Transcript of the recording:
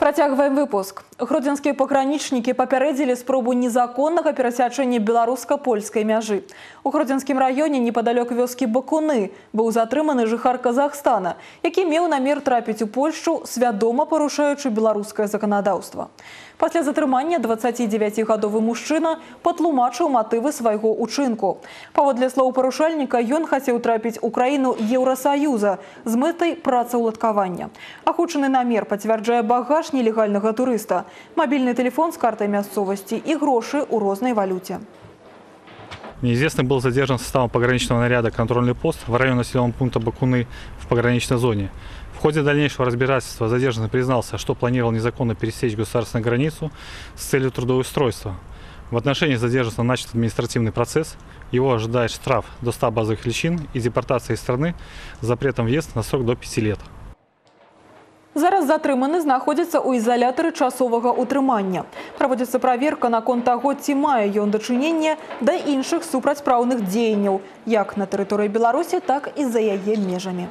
Працягваем выпуск. Гродзенскія пагранічнікі папярэдзілі спробу незаконнага перасячэння беларуска-польскай мяжы. У Гродзенскім раёне непадалёк вёскі Бакуны быў затрыманы жыхар Казахстана, які меў намер трапіць у Польшчу, свядома парушаючы беларускае заканадаўства. Пасля затрымання 29-гадовы мужчына патлумачыў матывы свайго ўчынку. Паводле слоў парушальніка, ён хацеў трапіць у краіну Еўрасаюза з мэтай працаўладкавання. Агучаны намер пацвярджае багаж нелегальнага турыста, мобильный телефон с картой мясцовости и гроши у рознай валюте. Неизвестный был задержан составом пограничного наряда «Контрольный пост» в районе населенного пункта Бакуны в пограничной зоне. В ходе дальнейшего разбирательства задержанный признался, что планировал незаконно пересечь государственную границу с целью трудоустройства. В отношении задержанного начат административный процесс. Его ожидает штраф до 100 базовых величин и депортация из страны с запретом въезда на срок до 5 лет. Зараз затрыманы знаходзіцца ў ізалятары часовага ўтрымання. Праводзіцца праверка наконт таго, ці мае ён дачыненне да іншых супрацьпраўных дзеянняў, як на тэрыторыі Беларусі, так і за яе межамі.